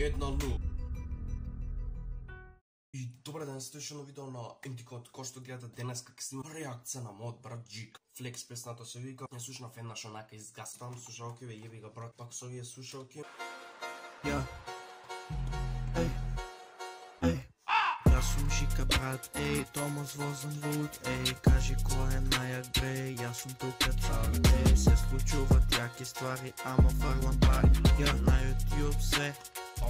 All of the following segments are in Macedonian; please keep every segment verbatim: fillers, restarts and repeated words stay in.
една нула. И добре ден, сте уште едно видео на Ентикот, кој што гледате денес како снимам реакција на мојот брат Джик. Флекс песната се вика, ја слушнав еднаш онака изгастам слушалки, ве јеби га брат, пак со овие слушалки. Ја, еј, еј, јас сум Жика брат, еј, Томас возам луд, еј, кажи кој е најак бре, јас сум тука цар, еј, се случуваат јаки ствари, ама фрлам пари, ја на YouTube се,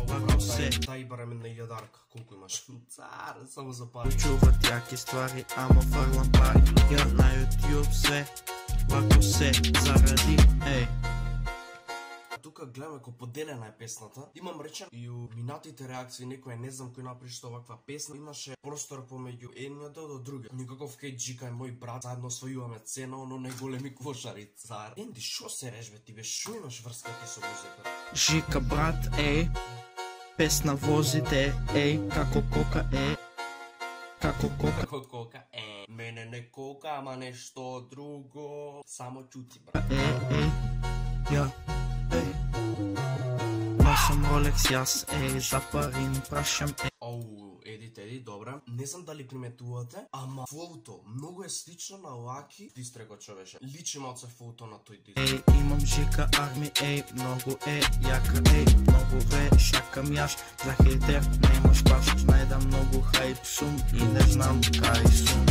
лако се, Дај барем една илјадарка, колку имаш? Цар, само за пари. случуваат јаки ствари, ама фрлам пари, ја на YouTube се, лако се, заради, еј. Тука гледаме кој поделена е песната. Имам речен и у минатите реакции некој не знам кој направи што оваква песна. Имаше простор помеѓу едниот до другиот. Никаков кај Джика е мој брат, заедно освојуваме цена, оно најголеми кошари цар. Енди, шо се режбе ти бе, шо имаш врска ти со музика? Жика брат, еј, песна возите, еј, како кока е, како кока Како кока, е, мене не кока, ама нешто друго. Само чути брат. е, еј, ја, еј. Носам Ролекс јас, еј, за пари ми прашам, еј. Оу, еди теди, добре. Не знам дали приметувате, ама флоуто многу е слично на Лаки дистрего човеше. Личи малце флоуто на тој дистрего. Еј, имам Жика арми, еј, многу е, јака, еј, многу ве, шакам јаш, за хейтер немаш паш, знај да многу хајп сум и не знам кај сум.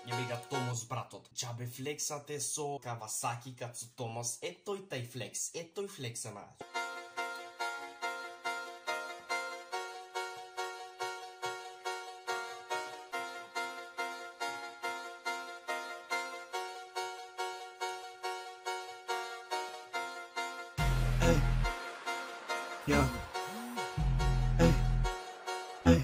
Јеби га Томас братот. Џабе флексате со Кавасаки кад со Томас. Е тој тај флекс, е тој флекс е најаш. Еј, ја, еј, еј,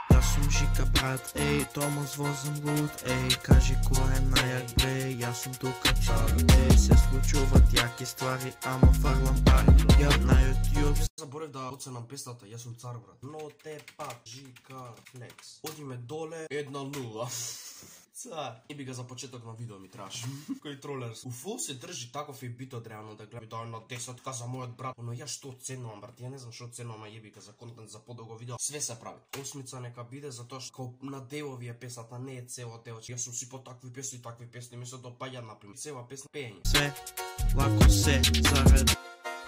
јас сум Жика брат, еј, Томас возам луд, еј, кажи кој е најак бре, јас сум тука цар, еј, се случуваат јаки ствари, ама фрлам пари, ја на YouTube. Заборев да оценам песната, јас сум цар брат. Но те пак Жика флекс. Одиме доле една нула. Цар. Еби га за почеток на видео ми траш. Кој тролер. У фул се држи таков и битот реално да гледа. Дај на десетка за мојот брат. Но ја што оценувам брат, ја не знам што оценувам, а јеби га за контент за подолго видео. Све се прави. Осмица нека биде затоа што на делови е песната, не е цело дело. Јас сум си по такви песни, такви песни ми се допаѓа например. Цела песна пење. Се, лако се, заради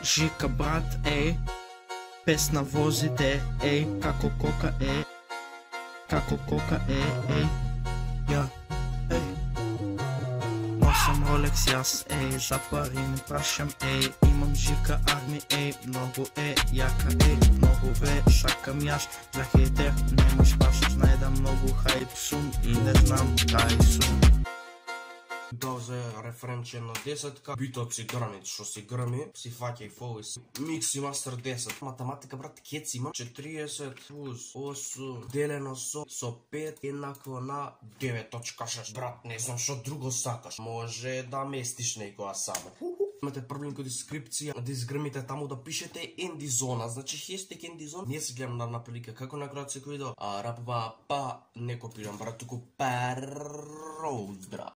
Жика брат, еј, песна возите, еј, како кока е, како кока е, еј, ја, еј. Носам Ролекс јас, еј, за пари ми прашам, еј, имам Жика арми, еј, многу е, јака, еј, многу ве, шакам јаш, за хейтер немаш паш, знај да многу хајп сум и не знам кај сум. Да, за референче на десетка, битот си грами, што си грами, си фаќа и фоли си. Микси мастер десет. Математика, брат, кец има четириесет плюс осум делено со со пет еднакво на девет точка шест. Брат, не знам што друго сакаш. Може да местиш некоја само. Имате проблем кој дескрипција, да изгрмите таму да пишете Ендизона, значи хештег Ендизон. Не се гледам на наприлика како на крајот секој видео. А рапва па не копирам брат, туку пароудра.